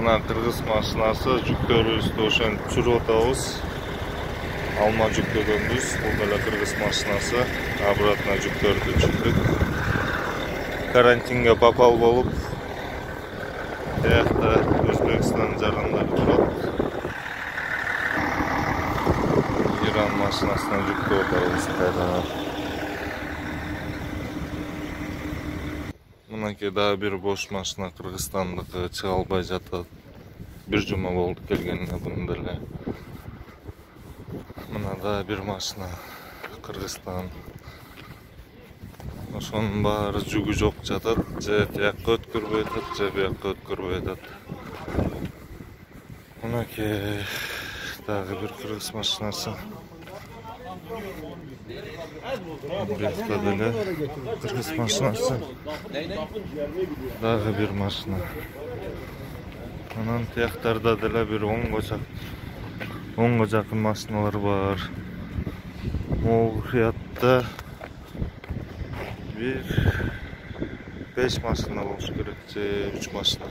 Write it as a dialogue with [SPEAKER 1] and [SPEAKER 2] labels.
[SPEAKER 1] Мына кыргыз машинасы жүктөрүбүздү ошентип жүрүп атабыз. Алма жүктөгөнбүз. Бул деле кыргыз машинасы. Обратно жүктөрдү чыктык. Карантинге попал болуп, биякта Өзбекстан жарандары турат. Иран машинасына жүктөп атабыз кайрадан. Мынакей дагы бир бош машина Кыргызстандыкы чыга албай жатат. Бир жума болду келгенине бунун деле. Мына да бир машина Кыргызстан. Ошонун баары жүгү жок жатат. Же тиякка өткөрбөй атат, же биякка өткөрбөй атат. Мынакей дагы бир кыргыз машинасы. Биякта деле кыргыз машинасы. Дагы бир машина. Анан тияктарда деле бир 10го жакын машиналар бар. Могул кыятта бир 5 машина болуш керек, же 3 машина.